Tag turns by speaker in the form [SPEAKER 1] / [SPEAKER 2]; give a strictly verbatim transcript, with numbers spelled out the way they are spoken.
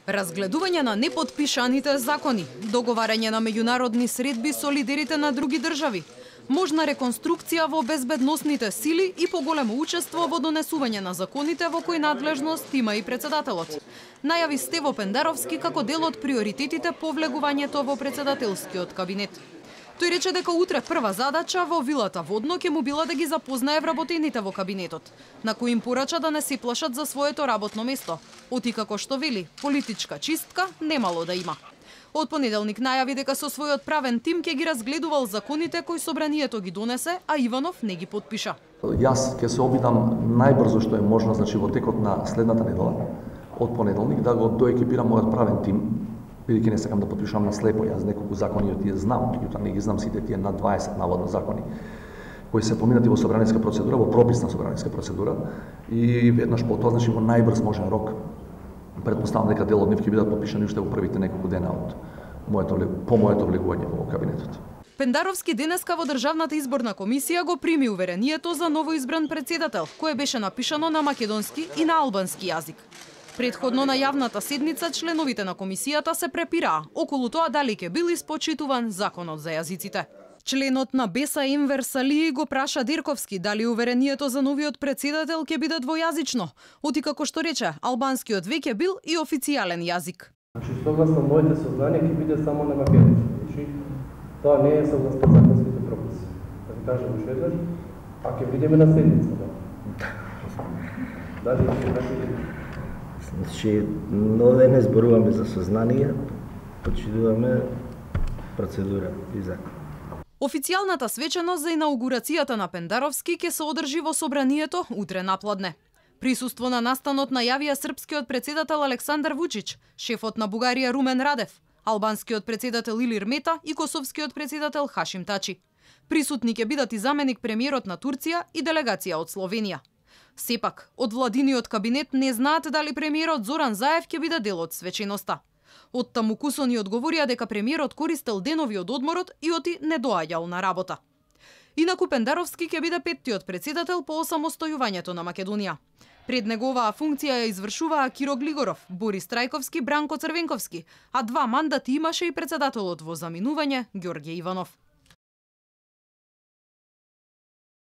[SPEAKER 1] Разгледување на непотпишаните закони, договарање на меѓународни средби со лидерите на други држави, можна реконструкција во безбедносните сили и поголемо учество во донесување на законите во кои надлежност има и председателот. Најави Стево Пендаровски како дел од приоритетите по влегувањето во председателскиот кабинет. Тој рече дека утре прва задача во вилата Водно ќе му била да ги запознае вработените во кабинетот, на кои им порача да не се плашат за своето работно место, оти како што вели, политичка чистка немало да има. Од понеделник најави дека со својот правен тим ќе ги разгледувал законите кои собранието ги донесе, а Иванов не ги потпиша.
[SPEAKER 2] Јас ќе се обидам најбрзо што е можно, значи во текот на следната недела, од понеделник, да го доекипирам мојот правен тим, бидејќи не сакам да потпишувам на слепо. Јас неколку закони од тие знам, меѓутоа не ги знам сите тие над дваесет наводно закони кои се поминати во собраниска процедура, во прописна собраниска процедура, и веднаш по тоа, значи во најбрз можен рок, претпоставам дека дел од нив ќе бидат потпишани уште во првите неколку дена од моето по моето влегување во кабинетот.
[SPEAKER 1] Пендаровски денеска во Државната изборна комисија го прими уверението за новоизбран председател, кое беше напишано на македонски и на албански јазик. Предходно на јавната седница членовите на комисијата се препираа околу тоа дали ќе бил испочитуван законот за јазиците. Членот на Беса Енвер Салии го праша Дирковски дали уверението за новиот председател ќе биде двојазично, оти како што рече, албанскиот веќе бил и официјален јазик.
[SPEAKER 3] Значи, согласно моите сознание ќе биде само на македонски. Значи, тоа не е согласно законските прописи. Да ви кажам уште еднаш, а ќе видиме на седницата. Дали ќе
[SPEAKER 4] Значи, нове не зборуваме за сознание, почитуваме процедура и закон.
[SPEAKER 1] Официјалната свечаност за инаугурацијата на Пендаровски ќе се одржи во собранието утре напладне. Присуство на настанот најавија српскиот председател Александар Вучич, шефот на Бугарија Румен Радев, албанскиот председател Илир Мета и косовскиот председател Хашим Тачи. Присутни ќе бидат и заменик премиерот на Турција и делегација од Словенија. Сепак, од владиниот кабинет не знаат дали премиерот Зоран Заев ќе биде дел од свеченоста. Од таму Кусони одговорија дека премиерот користел денови од одморот и оти не доаѓал на работа. Инаку Пендаровски ќе биде петтиот председател по осамостојувањето на Македонија. Пред неговаа функција ја извршуваа Киро Глигоров, Борис Трајковски, Бранко Црвенковски, а два мандати имаше и председателот во заминување Ѓорѓе Иванов.